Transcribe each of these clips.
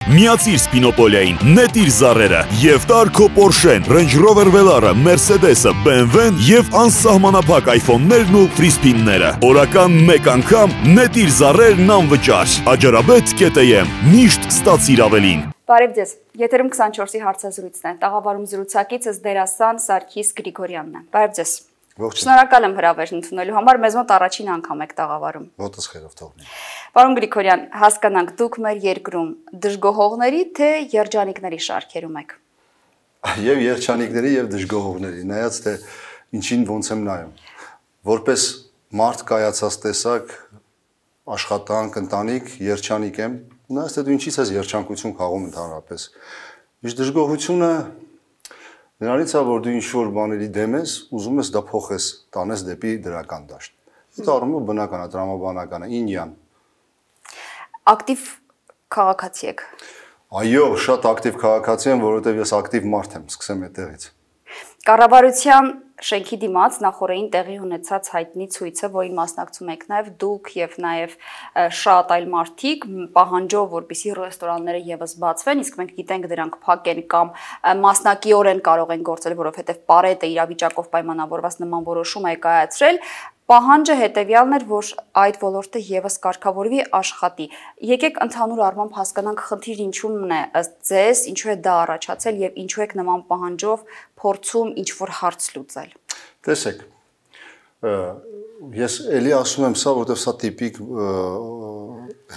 Միացիր Spinopol-ին, նետիր զառերը եւ տար քո Porsche-ն, Range Rover Velar-ը, Mercedes-ը, BMW-ն եւ անսահմանափակ iPhone-ներն ու free spin-ները։ Օրական 1 անգամ նետիր զառերն անվճար։ Ajarabet.am միշտ ստացիր ավելին։ Բարև ձեզ։ Եթերում 24-ի հարցազրույցն է։ Տաղավարում զրուցակիցս դերասան Սարգիս Գրիգորյանն է։ Բարև ձեզ։ Շնորհակալ եմ հրավերն ընդունելու համար, մեզ մոտ առաջին անգամ եք տաղավարում։ Ոտս խերով թողնի։ Պարոն Գրիգորյան, հասկանանք դուք մեր երկրում դժգոհողների թե երջանիկների շարքերում եք։ Եվ երջանիկների եւ դժգոհողների, նայած թե ինչին ոնց եմ նայում։ Որպես մարդ կայացած տեսակ, աշխատանք, ընտանիք, երջանիկ եմ, նայած թե դու ինչից ես երջանկություն քաղում ընդհանրապես։ Իսկ դժգոհությունը նրանից է, որ դու ինչ-որ բաների դեմ ես, ուզում ես դա փոխես, տանես դեպի դրական դաշտ։ Այդ առումով բնական է, տրամաբանական է, ինյան։ Ակտիվ քաղաքացի եք։ Այո, շատ ակտիվ քաղաքացի եմ, որովհետև ես ակտիվ մարդ եմ, սկսեմ այդտեղից։ Կառավարության շենքի դիմաց նախորդին տեղի ունեցած հայտնի ցույցը, որին մասնակցում եք նաև դուք եւ նաև շատ այլ մարդիկ, պահանջով, որպեսզի ռեստորանները եւս բացվեն, իսկ մենք գիտենք դրանք փակ են կամ մասնակիորեն կարող են գործել, որովհետեւ Պարետը իրավիճակով պայմանավորված նման որոշում է կայացրել։ Պահանջը հետևյալն էր, որ այդ ոլորտը եւս կարգավորվի, աշխատի։ Եկեք ընդհանուր առմամբ հասկանանք խնդիրը ինչու՞մն է ըստ ձեզ, ինչու է դա առաջացել եւ ինչու եք նման պահանջով փորձում ինչ-որ հարց լուծել։ Տեսեք, ես էլի ասում եմ սա, որովհետեւ սա տիպիկ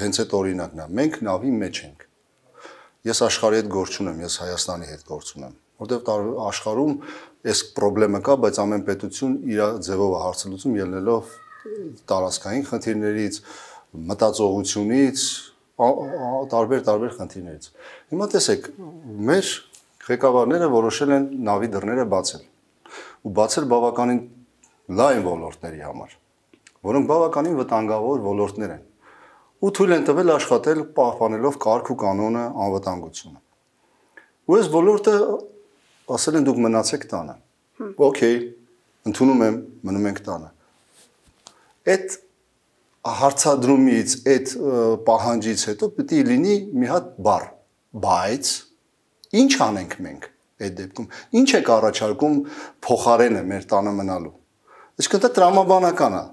հենց այդ օրինակն է։ Մենք նավի մեջ ենք։ Ես աշխարհի հետ գործ չունեմ, ես Հայաստանի հետ գործ ունեմ, որովհետեւ աշխարհում այս խնդրեմը կա, բայց ամեն պետություն իր ձևով է հարցը լուծում, ելնելով տարածքային խնդիրներից, մտածողությունից, տարբեր խնդիրներից։ Հիմա տեսեք, մեր ղեկավարները որոշել են նավի դռները բացել ու բացել բավականին լայն ոլորտների համար, որոնք բավականին վտանգավոր ոլորտներ են ու թույլ են տվել աշխատել պահպանելով կարգ ու կանոնը, անվտանգությունը։ Ու այս ոլորտը ասել են դուք մնացեք տանը։ Okay, ընդունում եմ, մնում ենք տանը։ Այդ հարցադրումից, այդ պահանջից հետո պետք է լինի մի հատ բառ, բայց ինչ անենք մենք այդ դեպքում։ Ինչ եք առաջարկում փոխարենը մեր տանը մնալու։ Այսինքն դա տրամաբանական է։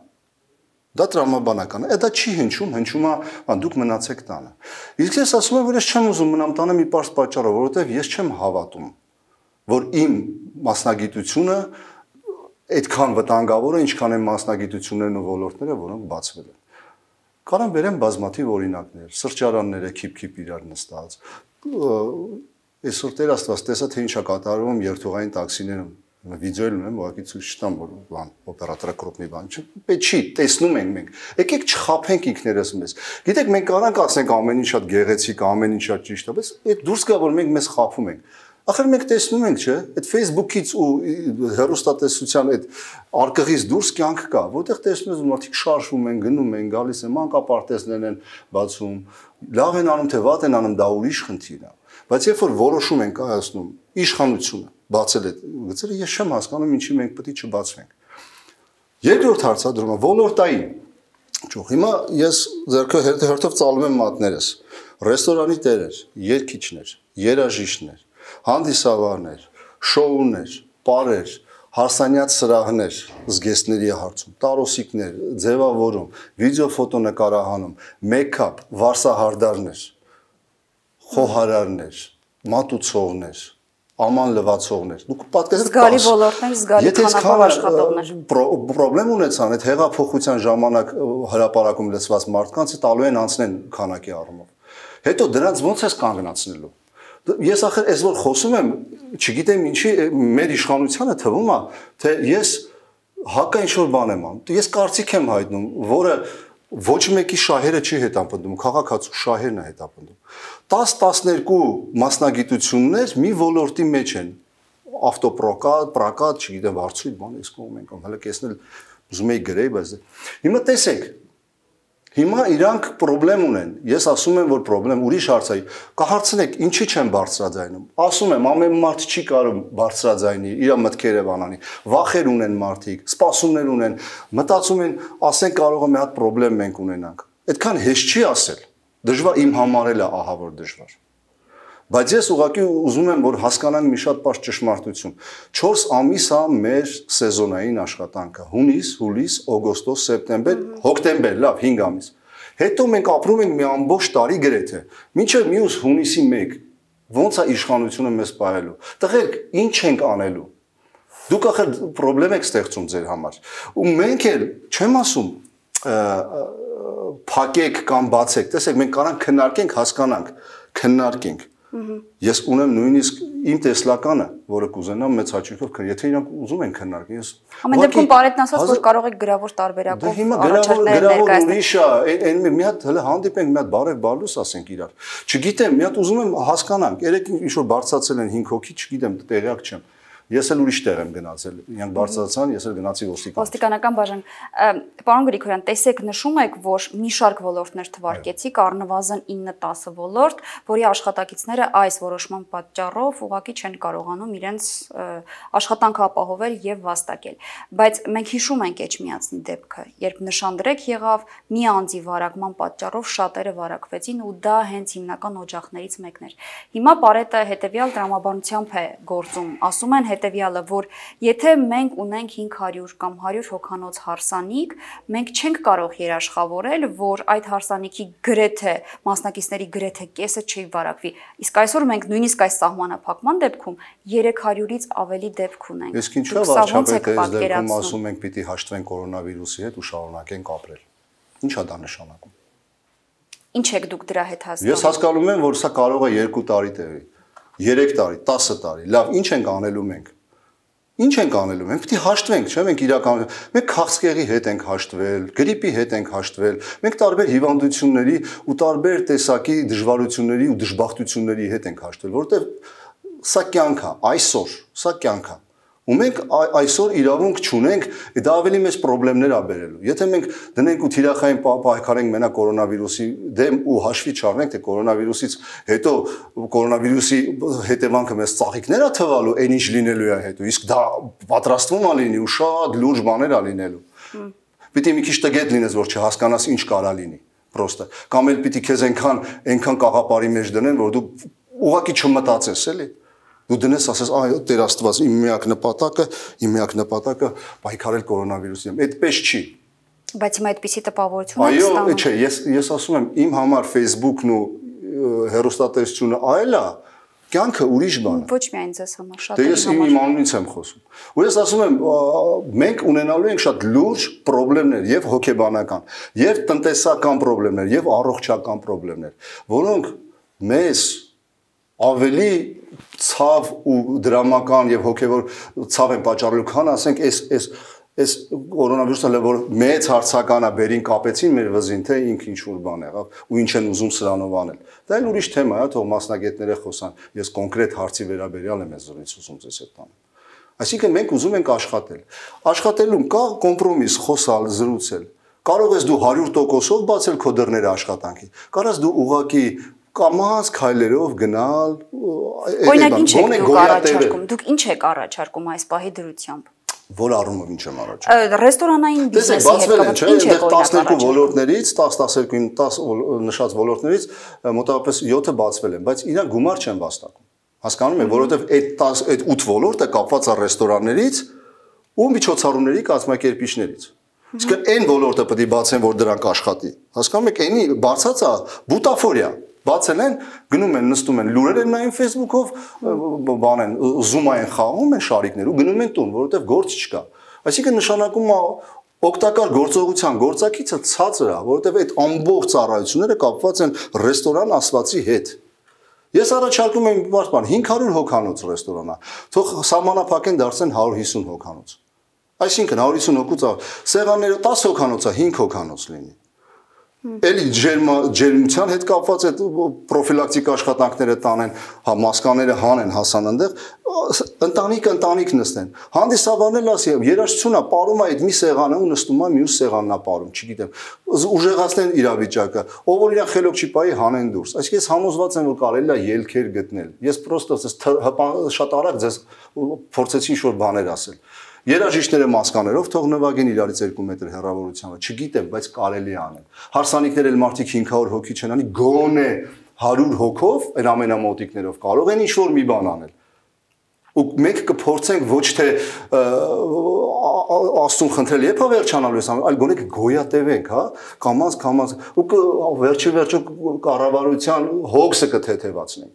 Դա տրամաբանական է, դա չի հնչում, հնչում է դուք մնացեք տանը։ Իսկ ես ասում եմ, որ ես չեմ ուզում մնամ տանը մի պարզ պատճառով, որովհետև ես չեմ հավատում, որ իմ մասնագիտությունը այդքան վտանգավոր է, ինչքան են մասնագիտություններն ու ոլորտները, որոնք բացվել են։ Կարամ բերեմ բազմաթիվ օրինակներ, սրճարանները քիփ-քիփ իրար նստած։ Այսօր Տեր Աստված տեսա թե ինչ է կատարվում երթուղային տաքսիներում։ Վիդեոյել ունեմ, ուղղակի ցույց չտամ, որ բան օպերատորը կրոպնի բան չի։ Պետք չի, տեսնում ենք մենք։ Եկեք չխափենք ինքներս մեզ։ Գիտեք, մենք կարանք ասենք ամեն ինչ շատ գեղեցիկ, ամեն ինչ շատ ճիշտ է, բայց այդ դուրս գա, որ մենք մեզ խափում ենք։ Ախր մենք տեսնում ենք, չէ՞, այդ Facebook-ից ու հեռուստատեսության այդ արկղից դուրս կյանք կա, որտեղ տեսնում ես մարդիկ շարժվում են, գնում են, գալիս են, մանկապարտեզներն են բացում, լավ են անում, թե վատ են անում, դա ուրիշ խնդիր է։ Բայց երբ որ որոշում են կայացնում իշխանությունը բացել այդ գծերը, ես չեմ հասկանում ինչի մենք պետք է չբացվենք։ Երկրորդ հարցադրումը ոլորտային։ Ճոխ, հիմա ես ձեռքը հերթով ծալում եմ մատներս։ Ռեստորանի տերեր, երգիչներ, երաժիշտներ, հանդիսավարներ, շոուներ, պարեր, հարսանյաց սրահներ, զգեստների հարցում, տարոսիկներ, ձևավորում, վիդեո ֆոտոնկարահանում, մեյքափ, վարսահարդարներ, խոհարարներ, մատուցողներ, աման լվացողներ։ Դուք պատկերացրեք զգալի ոլորտներ, զգալի քանակով աշխատողներ։ Պրոբլեմ ունեցան այդ հեղափոխության ժամանակ հրապարակում լցված մարդկանց տալու են անցնեն քանակի առումով։ Հետո դրանց ո՞նց ես կանգնացնելու։ Ես ախր այս որ խոսում եմ, չգիտեմ ինչի մեր իշխանությանը թվում է, թե ես հակա ինչ-որ բան եմ անում։ Ես կարծիք եմ հայտնում, որը ոչ մեկի շահերը չի հետապնդում, քաղաքացու շահերն է հետապնդում։ 10-12 մասնագիտություններ մի ոլորտի մեջ են։ Ավտոպրոկատ, պրոկատ, չգիտեմ, վարձույթ, բան էս կողմ ենք, հələ կեսնել ուզում եի գրեի, բայց հիմա տեսեք, հիմա իրանք խնդրեմ ունեն։ Ես ասում եմ, որ խնդրեմ ուրիշ հարց է։ Կհարցնեք, ինչի չեն բարձրաձայնում։ Ասում եմ, ամեն մարդ չի կարող բարձրաձայնի, իր մտքերը բանանի։ Վախեր ունեն մարդիկ, սպասումներ ունեն, մտածում են, ասեն կարող է մի հատ խնդրեմ մենք ունենանք։ Այդքան հեշտ չի ասել։ Դժվար իմ համար էլ է ահա որ դժվար։ Բայց ես ուղղակի ուզում եմ, որ հասկանանք մի շատ բարձ ճշմարտություն։ 4 ամիս է մեր սեզոնային աշխատանքը՝ հունիս, հուլիս, օգոստոս, սեպտեմբեր, հոկտեմբեր, լավ, 5 ամիս։ Հետո մենք ապրում ենք մի ամբողջ տարի գրեթե։ Մինչև մյուս հունիսի 1 ո՞նց է իշխանությունը մեզ պահելու։ Տղերք, ինչ ենք անելու։ Դուք ախր խնդրեմ եք ստեղծում ձեր համար։ Ու մենք էլ, չեմ ասում, փակեք կամ բացեք։ Տեսեք, մենք կարանք քննարկենք, հասկանանք, քննարկենք։ Ես ունեմ նույնիսկ իմ տեսլականը, որը կուզենամ մեծ հաճույքով, եթե իրանք ուզում են քննարկել, ես ամեն դեպքում Պարետն ասաց, որ կարող եք գրավոր տարբերակով առաջարկներ ներկայացնել։ Մի հատ հələ հանդիպենք, մի հատ բարև բալուս ասենք իրար։ Չգիտեմ, մի հատ ուզում եմ հասկանանք, երեք ինչ որ բարձրացել են 5 հոգի, չգիտեմ, տեղյակ չեմ։ Ես էլ ուրիշ տեղ եմ գնացել, իրանք բարձրացան, ես էլ գնացի ոստիկանական բաժան։ Պարոն Գրիգորյան, տեսեք, նշում եք, որ մի շարք ոլորտներ թվարկեցիք, առնվազն 9-10 ոլորտ, որի աշխատակիցները այս որոշման պատճառով ուղղակի չեն կարողանում իրենց աշխատանքը ապահովել եւ վաստակել։ Բայց մենք հիշում ենք Էջմիածնի դեպքը, երբ նշանդրեք եղավ մի անձի վարակման պատճառով շատերը վարակվեցին ու դա հենց հիմնական օջախներից մեկն էր։ Հիմա Պարետը հետեւյալ տրամաբանությամբ է գործում, ասում են հետևյալը, որ եթե մենք ունենք 500 կամ 100 հոգանոց հարսանիք, մենք չենք կարող երաշխավորել, որ այդ հարսանիքի գրեթե մասնակիցների գրեթե կեսը չի վարակվի։ Իսկ այսօր մենք նույնիսկ այս սահմանափակման դեպքում 300-ից ավելի դեպք ունենք։ Իսկ ինչու՞ վարչապետը այս դեպքում ասում ենք պիտի հաշտվենք կորոնավիրուսի հետ ու շարունակենք ապրել։ Ինչ է դա նշանակում։ Ինչ եք դուք դրա հետ հասկանում։ Ես հասկանում եմ, որ սա կարող է 2 տարի տևի, 3 տարի, 10 տարի։ Լավ, ինչ ենք անելու մենք։ Ինչ ենք անելու։ Մենք պիտի հաշտվենք, չէ՞, մենք իրական մենք քաղցկեղի հետ ենք հաշտվել, գրիպի հետ ենք հաշտվել, մենք տարբեր հիվանդությունների ու տարբեր տեսակի դժվարությունների ու դժբախտությունների հետ ենք հաշտվել, որովհետև սա կյանք է, այսօր, սա կյանք է։ Ու մենք այսօր իրավունք չունենք, դա ավելի մեծ խնդիրներ ա բերելու։ Եթե մենք դնենք ու թիրախային պայքարենք մենակ կորոնավիրուսի դեմ ու հաշվի չառնենք, թե կորոնավիրուսից հետո կորոնավիրուսի հետևանքը մեզ ծաղիկներ ա թվալու, այն ինչ լինելու է հետո, իսկ դա պատրաստվում ա լինի ու շատ լուրջ բաներ ա լինելու։ Պիտի մի քիչ տգետ լինես, որ չհասկանաս ինչ կարա լինի, պրոստը։ Կամ էլ պիտի քեզ այնքան կաղապարի մեջ դնեն, որ դու ուղղակի չմտածես, էլի։ Դու դնես ասես, այ Տեր Աստված, իմ միակ նպատակը պայքարել կորոնավիրուսի դեմ։ Այդպես չի։ Բայց հիմա այդպիսի տպավորություն եք ստանում։ Այո, չէ, ես ասում եմ, իմ համար Facebook-ն ու հեռուստատեսությունը այլ է, կյանքը ուրիշ բան է։ Ոչ միայն ձեզ համար, շատ Դե ես իմ անունից եմ խոսում։ Ու ես ասում եմ, մենք ունենալու ենք շատ լուրջ խնդիրներ, եւ հոգեբանական, եւ տնտեսական խնդիրներ, եւ առողջական խնդիրներ, որոնք մեզ ավելի ցավ ու դրամական եւ հոգեվոր ցավ են պատճառելու, քան ասենք այս կորոնավիրուսը որ մեծ հարցական է բերին կապեցին մեր վզին, թե ինքը ինչ որ բան եղավ ու ինչ են ուզում սրանով անել։ Դա էլ ուրիշ թեմա է, թող մասնագետները խոսան։ Ես կոնկրետ հարցի վերաբերյալ եմ զրույց ուզում ձեզ հետ տանել։ Այսինքն մենք ուզում ենք աշխատել։ Աշխատելուն կա կոմպրոմիս, խոսալ, զրուցել։ Կարող ես դու 100%-ով բացել քո դռները աշխատանքի։ Կարաս դու ուղակի կամաց քայլերով գնալ, օրինակ ինչ եք դուք առաջարկում։ Դուք ինչ եք առաջարկում այս պահի դրությամբ։ Որ առումով ինչ եմ առաջարկում։ Ռեստորանային բիզնեսի հետ կապված ինչ եք առաջարկում։ 12 ոլորտներից, 10 նշած ոլորտներից մոտավորապես 7-ը բացվել են, բայց իրանք գումար չեն վաստակում։ Հասկանում եք, որովհետև այդ 8 ոլորտը կապված է ռեստորաններից ու միջոցառումների կազմակերպիչներից։ Իսկ այն ոլորտը պետք է բացեն, որ դրանք աշխատի։ Հասկանում եք, այնի բացած է բուտաֆորիա։ Բացել են, գնում են, նստում են, լուրեր են նայում Facebook-ով, բան են, Zoom-ային խաղում են շարիկներ ու գնում են տուն, որովհետև գործ չկա։ Այսինքն նշանակում է օգտակար գործողության գործակիցը ցածր է, որովհետև այդ ամբողջ ծառայությունները կապված են ռեստորան ասվածի հետ։ Ես առաջարկում եմ բարձր 500 հոգանոց ռեստորանա, թող սահմանափակեն դարձեն 150 հոգանոց։ Այսինքն 150 հոգուց սեղանները 10 հոգանոց է, 5 հոգանոց լինի։ Էլի ջերմության հետ կապված այդ պրոֆիլակտիկ աշխատանքները տանեն, հա մասկաները հանեն, հասան այնտեղ, ընտանիք նստեն։ Հանդիսավարն էլ ասի, երաժշտությունն է, ապարում է այդ մի սեղանը ու նստում է մյուս սեղանն է ապարում, չգիտեմ։ Ուժեղացնեն իրավիճակը, ով որ իրան խելոք չի պայի հանեն դուրս։ Այսինքն ես համոզված եմ, որ կարելի է ելքեր գտնել։ Ես պրոստը շատ արագ ձեզ փորձեցի ինչ-որ բաներ ասել։ Երաժիշտները մասկաներով թող նվագեն իրարից 2 մետր հեռավորությամբ, չգիտեմ, բայց կարելի է անել։ Հարսանիքներ էլ մարդիկ 500 հոգի չեն անի, գոնե 100 հոգով, այն ամենամոտիկներով կարող են ինչ-որ մի բան անել։ Ու մենք կփորձենք ոչ թե Աստծուն խնդրել երբ վերջանալու է, այլ գոնե գոյատևենք, հա, կամաց, ու վերջի կառավարության հոգսը կթեթևացնենք,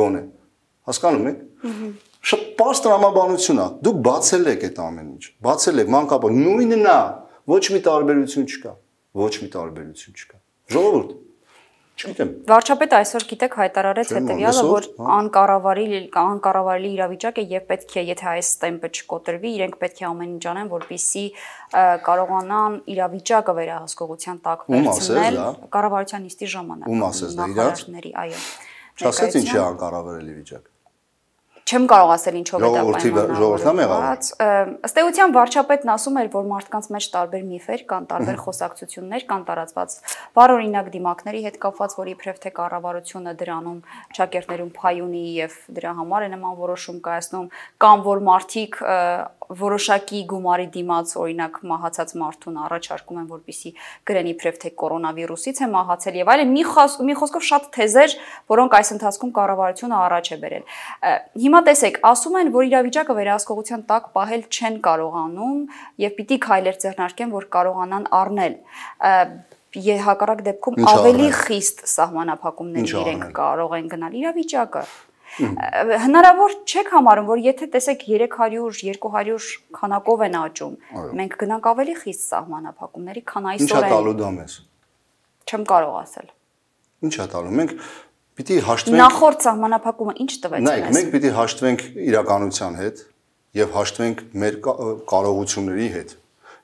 գոնե։ Հասկանում եք։ Շատ պարզ տրամաբանություն է։ Դուք բացել եք այդ ամեն ինչ։ Բացել եք մանկապա նույնն է, ոչ մի տարբերություն չկա։ Ոչ մի տարբերություն չկա։ Ժողովուրդ, չգիտեմ։ Վարչապետը այսօր գիտեք հայտարարեց հետևյալը, որ անկառավարելի իրավիճակ է եւ պետք է, եթե այս տեմպը չկոտրվի, իրենք պետք է ամեն ինչ անեն, որպեսզի կարողանան իրավիճակը վերահսկողության տակ վերցնել կառավարության նիստի ժամանակ։ Ում ասես դա իրաց։ Այո։ Չասեց ինչ է անկառավարելի վիճակ։ Չեմ կարող ասել ինչով է դա պայմանավորված։ Ըստ էության վարչապետն ասում էր, որ մարդկանց մեջ տարբեր միֆեր կան, տարբեր խոսակցություններ կան տարածված, բարօրինակ դիմակների հետ կապված, որ իբրև թե կառավարությունը դրանում ճակերտներում փայ ունի եւ դրա համար է նման որոշում կայացնում, կամ որ մարդիկ որոշակի գումարի դիմաց օրինակ մահացած մարդուն առաջարկում են, որպեսզի գրեն իբրև թե կորոնավիրուսից է մահացել եւ այլն, մի խոսքով շատ թեզեր, որոնք այս ընթացքում կառավարությունը առաջ է բերել։ Հիմա տեսեք, ասում են, որ իրավիճակը վերահսկողության տակ պահել չեն կարողանում եւ պիտի քայլեր ձեռնարկեն, որ կարողանան առնել հակառակ դեպքում ավելի խիստ սահմանափակումների իրենք կարող են գնալ իրավիճակը։ Հնարավոր չեք համարում, որ եթե տեսեք 300, 200 քանակով են աճում, մենք գնանք ավելի խիստ սահմանափակումների, քան այսօր են։ Ինչ է տալու դա մեզ։ Չեմ կարող ասել։ Ինչ է տալու։ Մենք պիտի հաշտվենք։ Նախորդ սահմանափակումը ինչ տվեց մեզ։ Նայեք, մենք պիտի հաշտվենք իրականության հետ եւ հաշտվենք մեր կարողությունների հետ։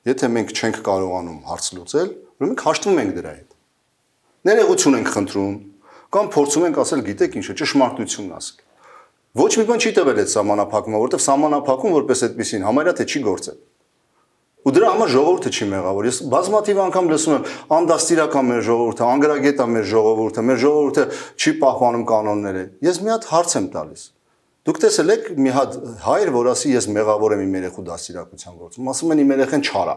Եթե մենք չենք կարողանում հարց լուծել, ուրեմն մենք հաշտվում ենք դրա հետ։ Ներողություն ենք խնդրում, կամ փորձում ենք ասել, գիտեք ինչ է, ճշմարտությունն ասել։ Ոչ մի բան չի տվել այդ սահմանափակումը, որովհետև սահմանափակում որպես այդպեսին համարյա թե չի գործել։ Ու դրա համար ժողովուրդը չի մեղավոր։ Ես բազմաթիվ անգամ լսում եմ, անդաստիրական մեր ժողովուրդը, անգրագետ է մեր ժողովուրդը չի պահպանում կանոնները։ Ես մի հատ հարց եմ տալիս։ Դուք տեսել եք մի հատ հայր, որ ասի ես մեղավոր եմ իմ երեխու դաստիարակության գործում, ասում են իմ երեխան չար է։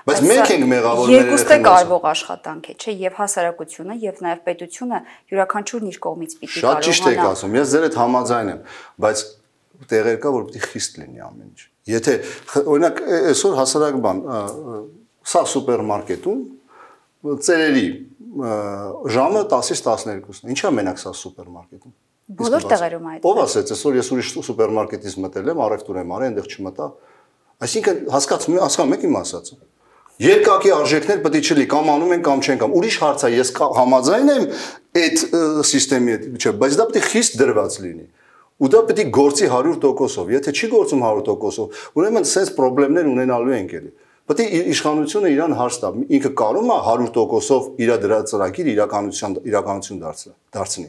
Բայց մենք ենք մեղավոր մեր երկուստը կարևոր աշխատանք է, չէ, եւ հասարակությունը եւ նաեւ պետությունը յուրաքանչյուրն իր կողմից պիտի կարողանա։ Շատ ճիշտ եք ասում, ես ձեր հետ համաձայն եմ, բայց տեղեր կա, որ պիտի խիստ լինի ամեն ինչ։ Եթե օրինակ այսօր հասարակ բան, սա սուպերմարկետում ծերերի ժամը 10-ից 12-ն է։ Ինչա մենակ սա սուպերմարկետում։ Բոլոր տեղերում այդ։ Ով ասեց, այսօր ես ուրիշ սուպերմարկետից մտել եմ, առևտուր եմ արել, այնտեղ չմտա։ Այսինքն հասկանում եք իմ ասածը։ Երկակի արժեքներ պետք է չլի, կամ անում են կամ չեն կամ։ Ուրիշ հարց է, ես համաձայն եմ այդ համակարգի հետ, չէ, բայց դա պետք է խիստ դրված լինի։ Ու դա պետք է գործի 100%-ով։ Եթե չի գործում 100%-ով, ուրեմն sense խնդիրներ ունենալու ենք էլի։ Պետք է իշխանությունը իրան հարց տա, ինքը կարող է 100%-ով իր դրա ծրագիր իրականություն դարձնի։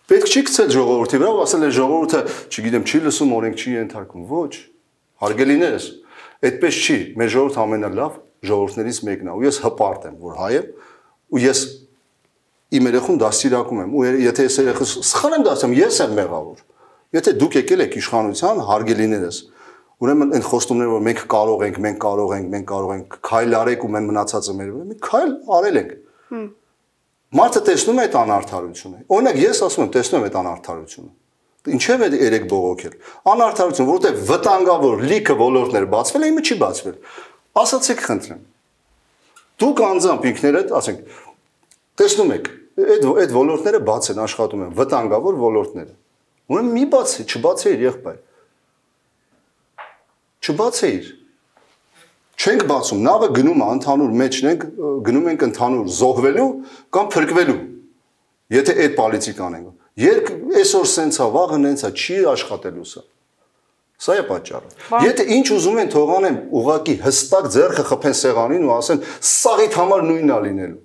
Պետք չի գցել ժողովրդի վրա, ասել է ժողովուրդը, չգիտեմ, չի լսում, օրենք չի ենթարկում։ Ոչ, հարգելիներս, այդպես չի։ Մեր ժողովուրդը ամենալավ ժողովուրդներից մեկն է, ու ես հպարտ եմ, որ հայ եմ, ու ես իմ երեխուն դաստիարակում եմ, ու եթե ես երեխուս սխալ եմ դասում, ես եմ մեղավոր։ Եթե դուք եկել եք իշխանության, հարգելիներս, ուրեմն այն խոստումները, որ մենք կարող ենք, քայլ արեք ու մենք մնացածը մեր վրա, մենք քայլ արել ենք։ Մարդը տեսնում է այդ անարդարությունը։ Օրինակ ես ասում եմ, տեսնում եմ այդ անարդարությունը։ Ինչև է երեք բողոքել։ Անարդարություն, որովհետև վտանգավոր լիքը ոլորտներ բացվել է, իմը չի բացվել։ Ասացեք խնդրեմ։ Դուք անձամբ ինքներդ, ասենք, տեսնում եք, այդ ոլորտները բաց են, աշխատում են, վտանգավոր ոլորտները։ Ուրեմն մի բացի, չբացեիր եղբայր։ Չբացեիր։ Չենք բացում, նավը գնում է ընդհանուր մեջն ենք, գնում ենք ընդհանուր զոհվելու կամ փրկվելու։ Եթե այդ պոլիտիկ անենք։ Այսօր սենց է, վաղը նենց է, չի աշխատելու սա։ Սա է պատճառը։ Եթե ինչ ուզում են թողանեն, ուղղակի հստակ ձեռքը խփեն սեղանին ու ասեն, սաղիդ համար նույնն է լինելու։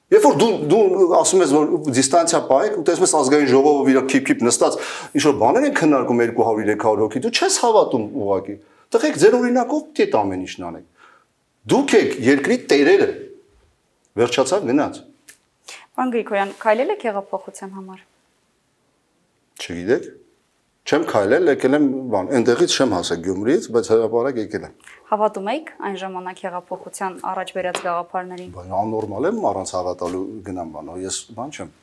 Երբ որ դու ասում ես, որ դիստանցիա պահեք, ու տեսնում ես ազգային ժողովը իր քիփ նստած, ինչ որ բաներ են քննարկում 200-300 հոգի, դու չես հավատում ուղղակի։ Տղեկ ձեր օրինակով պիտի այդ ամեն ինչն անեք։ Դուք եք երկրի տերերը։ Վերջացավ գնաց։ Պարոն Գրիգորյան, քայլել եք հեղափոխության համար։ Չգիտեք։ Չեմ քայլել, եկել եմ, բան, այնտեղից չեմ հասել Գյումրիից, բայց հրապարակ եկել եմ։ Հավատում եք այն ժամանակ հեղափոխության առաջ բերած գաղափարներին։ Բայց աննորմալ եմ առանց հավատալու գնամ բան, ես բան չեմ։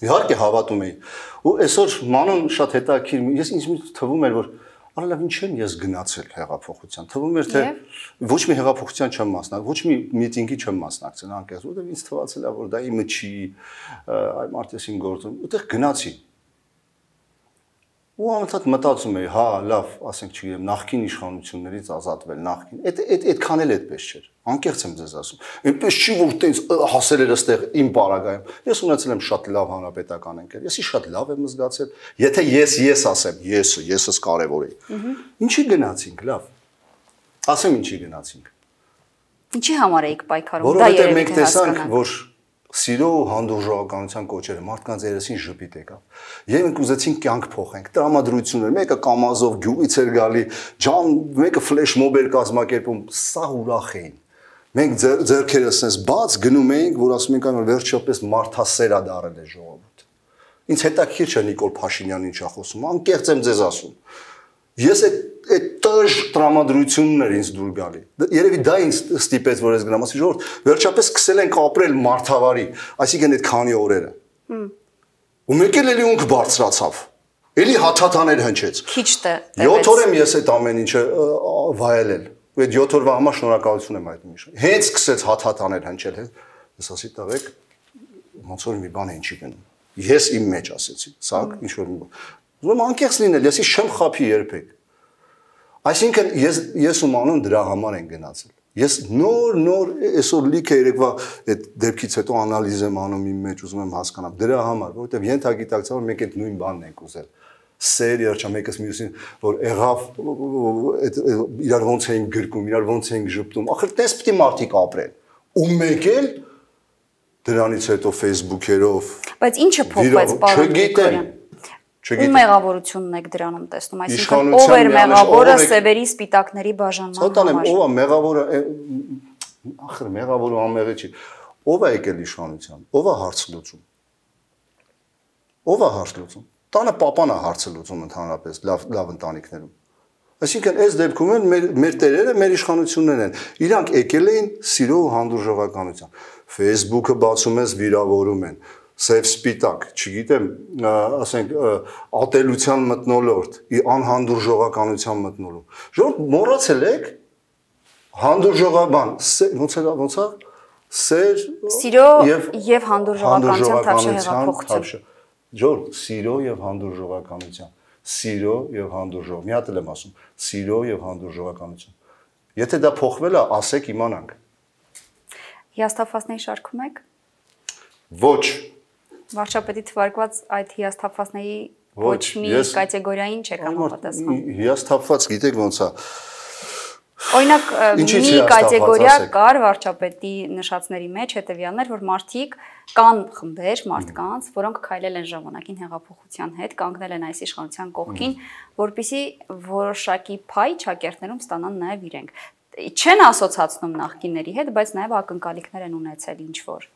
Իհարկե հավատում էի։ Ու այսօր մանուն շատ հետաքրքիր, ես ինձ թվում էր, որ արալավ ինչ եմ ես գնացել հեղափոխության։ Թվում էր թե ոչ մի հեղափոխության չեմ մասնակցել, ոչ մի միտինգի չեմ մասնակցել, անկեղծ, որովհետև ինձ թվացել է, որ դա իմը չի, այ մարդեսին գործում, ուտեղ գնացի։ Ու անընդհատ մտածում էի, հա, լավ, ասենք չգիտեմ, նախկին իշխանություններից ազատվել, նախկին։ Այդքան էլ այդպես չէր։ Անկեղծ եմ ձեզ ասում։ Այնպես չի որ տենց հասել էր այստեղ իմ պարագայում։ Ես ունեցել եմ շատ լավ հանրապետական ընկեր։ Եսի շատ լավ եմ զգացել։ Եթե ես ասեմ, եսս կարևոր է։ Ինչի գնացինք, լավ։ Ասեմ ինչի գնացինք։ Ինչի համար էիք պայքարում։ Որովհետև մենք տեսանք, որ սիրո ու հանդուրժողականության կոչերը մարդկանց երեսին ժպիտ եկավ։ Եվ մենք ուզեցինք կյանք փոխենք։ Տրամադրություններ, մեկը կամազով գյուղից էր գալի, ջան, մեկը ֆլեշ մոբ էր կազմակերպում, սա ուրախ էին։ Մենք ձեռքերս էս բաց գնում էինք, որ ասում ենք, որ վերջապես մարդասեր է դարել է ժողովուրդը։ Ինձ հետաքրքիր չէ Նիկոլ Փաշինյանն ինչա խոսում, անկեղծ եմ ձեզ ասում։ Ես այդ տժ տրամադրություններ ինձ դուր գալի։ Երևի դա ինձ ստիպեց, որ ես գնամ, ասի ժողովուրդ, վերջապես սկսել ենք ապրել մարդավարի, այսինքն այդ քանի օրերը։ Ու մեկ էլ էլի ունք բարձրացավ։ Էլի հաթաթաներ հնչեց։ Քիչ է։ 7 օր եմ ես այդ ամեն ինչը վայելել։ Ու այդ 7 օրվա համար շնորհակալություն եմ հայտնում իշ։ Հենց սկսեց հաթաթաներ հնչել, ես ասի տղեկ, ոնց որ մի բան է ինչի գնում։ Ես իմ մեջ ասեցի, սա ինչ որ մի բան։ Ուզում անկեղծ լինել, ես չեմ խափի երբեք։ Այսինքն ես ու մանուն դրա համար են գնացել։ Ես նոր այսօր լիքը երեկվա այդ դեպքից հետո անալիզ եմ անում իմ մեջ, ուզում եմ հասկանալ դրա համար, որովհետև ենթագիտակցաբար մենք այդ նույն բանն ենք ուզել։ Սեր երջա մեկս մյուսին, որ եղավ այդ իրար ոնց էին գրկում, իրար ոնց էին ժպտում։ Ախր տես պիտի մարդիկ ապրեն։ Ու մեկ էլ դրանից հետո Facebook-երով։ Բայց ինչը փոխվեց, պարոն Գրիգորյան։ Ու մեղավորությունն եք դրանում տեսնում, այսինքն ով էր մեղավորը սևերի սպիտակների բաժանման համար։ Ով է մեղավորը, ախր մեղավորը անմեղի չի։ Ով է եկել իշխանության, ով է հարց լուծում։ Ով է հարց լուծում։ Տանը պապան է հարցը լուծում ընդհանրապես լավ ընտանիքներում։ Այսինքն այս դեպքում են մեր տերերը, մեր իշխանություններն են։ Իրանք եկել էին սիրո ու հանդուրժողականության։ Facebook-ը բացում ես վիրավորում են։ Սև սպիտակ, չգիտեմ, ասենք ատելության մթնոլորտ, անհանդուրժողականության մթնոլորտ։ Ժողովուրդ մոռացել եք հանդուրժողական, ոնց է, սեր սիրո եւ հանդուրժողականության թավշահեղափոխություն։ Ժողովուրդ, սիրո եւ հանդուրժողականության, սիրո եւ հանդուրժող։ Մի հատ էլ եմ ասում, սիրո եւ հանդուրժողականություն։ Եթե դա փոխվել է, ասեք իմանանք։ Հիասթափվածների շարքում եք։ Ոչ։ Վարչապետի թվարկված այդ հիասթափվածների ոչ մի կատեգորիային չեք համապատասխանում։ Հիասթափված գիտեք ոնց է։ Օրինակ մի կատեգորիա կար վարչապետի նշածների մեջ հետևյալներ, որ մարդիկ կան խմբեր մարդկանց, որոնք քայլել են ժամանակին հեղափոխության հետ, կանգնել են այս իշխանության կողքին, որպեսզի որոշակի փայ ճակերտներում ստանան նաև իրենք։ Չեն ասոցացնում նախկինների հետ, բայց նաև ակնկալիքներ են ունեցել ինչ որ։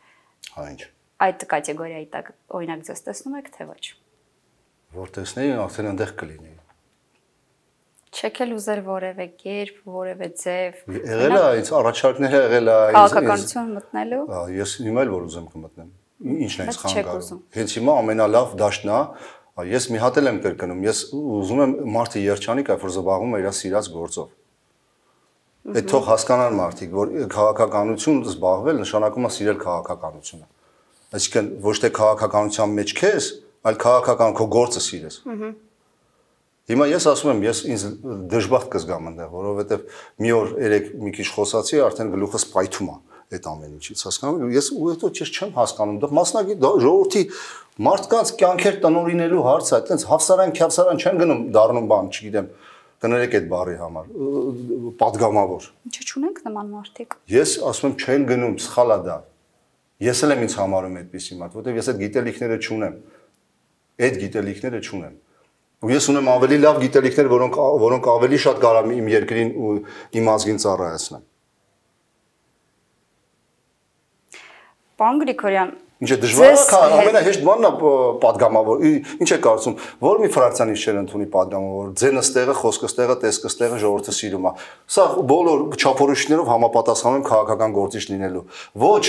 Հա ինչ։ Այդ կատեգորիայի տակ օրինակ ձեզ տեսնում եք թե ոչ։ Որ տեսնեի, արդեն այնտեղ կլինեի։ Չեք էլ ուզեր որևէ կերպ, որևէ ձև։ Եղել է, այս առաջարկները եղել է, քաղաքականություն մտնելու։ Ես հիմա էլ որ ուզեմ կմտնեմ։ Ինչն է ինձ խանգարում։ Հենց հիմա ամենալավ դաշտն է, ես մի հատ եմ կրկնում, ես ուզում եմ մարդը երջանիկ, որ զբաղվում է իր սիրած գործով։ Այդ թող հասկանան մարդիկ, որ քաղաքականություն զբաղվել նշանակում է սիրել քաղաքականությունը։ Այսինքն ոչ թե քաղաքականության մեջ քեզ, այլ քաղաքական քո գործը սիրես։ Հիմա ես ասում եմ, ես ինձ դժբախտ կզգամ այնտեղ, որովհետև մի օր երեք մի քիչ խոսացի, արդեն գլուխս պայթում է այդ ամեն ինչից, հասկանում ես ու հետո չեմ հասկանում, դա մասնագետ ժողովրդի մարդկանց կյանքեր տնօրինելու հարց է, այտենց հավասարան, քյավսարան չեն գնում դառնում բան, չգիտեմ, կներեք այդ բառի համար, պատգամավոր։ Ինչու՞ չունենք նման մարդիկ։ Ես ասում եմ չեն գնում, սխալ է դա։ Ես էլ եմ ինձ համարում այդպեսի մարդ, որովհետև ես այդ գիտելիքները չունեմ։ Այդ գիտելիքները չունեմ։ Ու ես ունեմ ավելի լավ գիտելիքներ, որոնք ավելի շատ կարող իմ երկրին ու իմ ազգին ծառայեցնեն։ Պարոն Գրիգորյան, Ինչ է դժվար է, ամենահեշտ բանն է падգամավոր։ Ինչ է կարծում, որ մի ֆրակցիան ինչ չեն ընդունի падգամավոր, ձենը ստեղը, խոսքը ստեղը, տեսքը ստեղը ժողովուրդը սիրում է։ Սա բոլոր չափորոշիչներով համապատասխանում քաղաքական գործիչ լինելու։ Ոչ,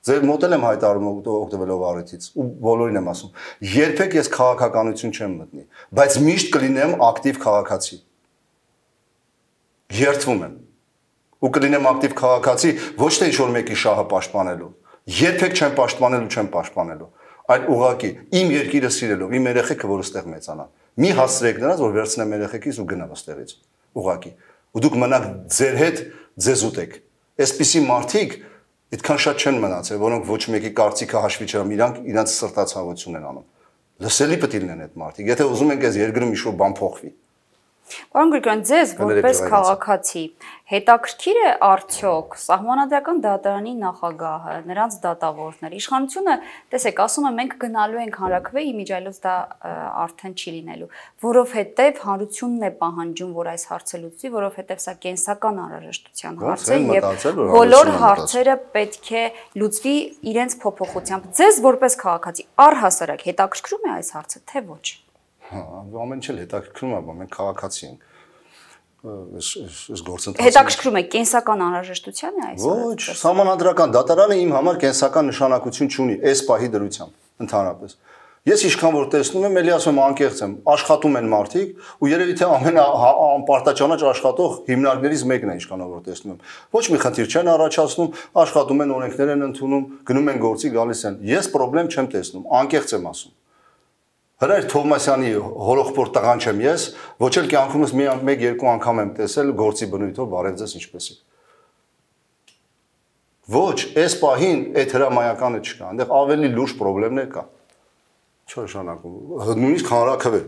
ձեր մոտ եմ հայտարարում օգտվելով առիթից ու բոլորին եմ ասում։ Երբեք ես քաղաքականություն չեմ մտնի, բայց միշտ կլինեմ ակտիվ քաղաքացի։ Երդվում եմ։ Ու կլինեմ ակտիվ քաղաքացի ոչ թե ինչ-որ մեկի շահը պաշտպանելու։ Երբեք չեմ պաշտպանելու, այլ ուղղակի իմ երկիրը սիրելով, իմ երեխեքը, որ այստեղ մեծանան։ Մի հասցրեք նրանց, որ վերցնեմ երեխեքից ու գնամ այստեղից։ Ուղղակի։ Ու դուք մնաք ձեր հետ ձեզ ուտեք։ Այսպիսի մարդիկ այդքան շատ չեն մնացել, որոնք ոչ մեկի կարծիքը հաշվի չեն, իրանց սրտացավություն են անում։ Լսելի պետք է լինեն այդ մարդիկ։ Եթե ուզում ենք այս երկրում ինչ-որ բան փոխվի։ Պարոն Գրիգորյան, ձեզ որպես քաղաքացի հետաքրքիր է արդյոք Սահմանադրական դատարանի նախագահը, նրանց դատավորները, իշխանությունը, տեսեք, ասում են մենք գնալու ենք հանրաքվե, իմիջիայլոց դա արդեն չի լինելու, որովհետև հանրությունն է պահանջում, որ այս հարցը լուծվի, որովհետև սա կենսական անհրաժեշտության հարց է եւ բոլոր հարցերը պետք է լուծվի իրենց փոփոխությամբ։ Ձեզ որպես քաղաքացի առհասարակ հետաքրքրում է այս հարցը, թե ոչ։ Ամեն ինչ էլ հետաքրքրում է, մենք քաղաքացի ենք։ Այս գործընթացը հետաքրքրում է կենսական անհրաժեշտության է այս։ Ոչ, Սահմանադրական դատարանը իմ համար կենսական նշանակություն չունի այս պահի դրությամբ ընդհանրապես։ Ես ինչքան որ տեսնում եմ, էլի ասում եմ անկեղծ եմ, աշխատում են մարդիկ ու երևի թե ամենապարտաճանաչ աշխատող հիմնարկներից մեկն է ինչքան որ տեսնում եմ։ Ոչ մի խնդիր չեն առաջացնում, աշխատում են, օրենքներ են ընդունում, գնում են գործի, գալիս են։ Ես խնդրեմ չեմ տեսնում, անկեղծ եմ ասում։ Հրայր Թովմասյանի հորոխբոր տղան չեմ ես, ոչ էլ կյանքումս մեկ-երկու անգամ եմ տեսել գործի բնույթով բարև ձեզ ինչպես է։ Ոչ, այս պահին այդ հրամայականը չկա, այնտեղ ավելի լուրջ խնդիրներ կա։ Չի նշանակում, նույնիսկ հանրաքվե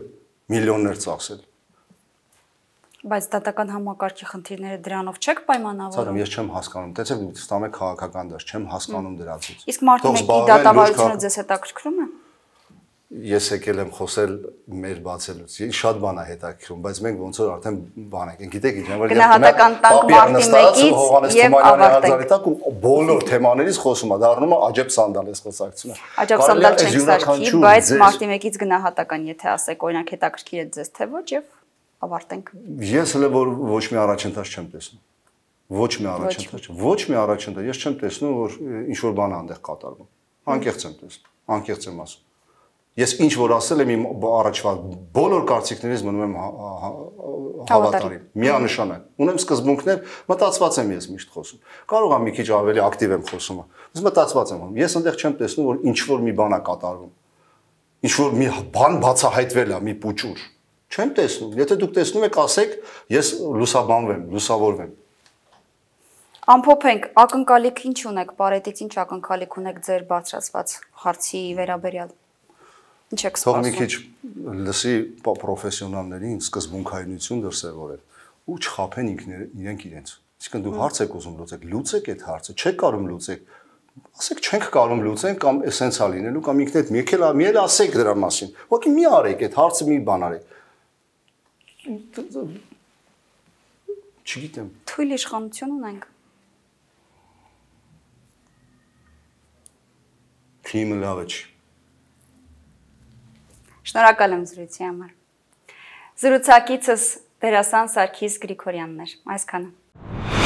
միլիոններ ծախսել։ Բայց դատական համակարգի խնդիրները դրանով չեք պայմանավորում։ Ցավոք, ես չեմ հասկանում, տեսեք, ստամ եք քաղաքական դաշտ, չեմ հասկանում դրանից։ Իսկ մարդու մեկի դատավարությունը ձեզ հետաքրքրում է։ Ես եկել եմ խոսել մեր բացելուց։ Շատ բան է հետաքրքրում, բայց մենք ոնց որ արդեն բան ենք, գիտեք ինչ, որ գնահատական տանք մարտի մեկից եւ ավարտենք։ Ու բոլոր թեմաներից խոսում է, դառնում է աջեբ սանդալ այս խոսակցությունը։ Աջեբ սանդալ չենք սարքի, բայց մարտի մեկից գնահատական, եթե ասեք, օրինակ հետաքրքիր է ձեզ թե ոչ եւ ավարտենք։ Ես հələ որ ոչ մի առաջընթաց չեմ տեսնում։ Ոչ մի առաջընթաց, ես չեմ տեսնում, որ ինչ որ բան է այնտեղ կատարվում։ Անկեղծ եմ տեսնում, անկեղծ եմ ասում։ Ես ինչ որ ասել եմ իմ առաջվա բոլոր կարծիքներից մնում եմ հավատարիմ, միանշանակ։ Ունեմ սկզբունքներ, մտածված եմ ես միշտ խոսում։ Կարող եմ մի քիչ ավելի ակտիվ եմ խոսում, բայց մտածված եմ։ Ես այնտեղ չեմ տեսնում, որ ինչ որ մի բան է կատարվում։ Ինչ որ մի բան բացահայտվել է, մի պուճուր։ Չեմ տեսնում։ Եթե դուք տեսնում եք, ասեք, ես լուսաբանվեմ, լուսավորվեմ։ Ամփոփենք, ակնկալիք ինչ ունեք, Պարետից ինչ ակնկալիք ունեք ձեր բարձրացված հարցի վերաբերյալ։ Ինչ եք սպասում։ Թող մի քիչ լսի պրոֆեսիոնալներին սկզբունքայնություն դրսևորել ու չխաբեն իրենք իրենց։ Իսկն դու հարց եք ուզում լուծեք այդ հարցը, չեք կարող լուծեք։ Ասեք չենք կարող լուծենք կամ էսենցիա լինելու կամ ինքնդ մի էլ ասեք դրա մասին։ Ուղղակի մի արեք այդ հարցը մի բան արեք։ Չգիտեմ։ Թույլ իշխանություն ունենք։ Թիմը լավ է չի։ Շնորհակալ եմ զրույցի համար։ Զրուցակիցս դերասան Սարգիս Գրիգորյանն էր։ Այսքանը։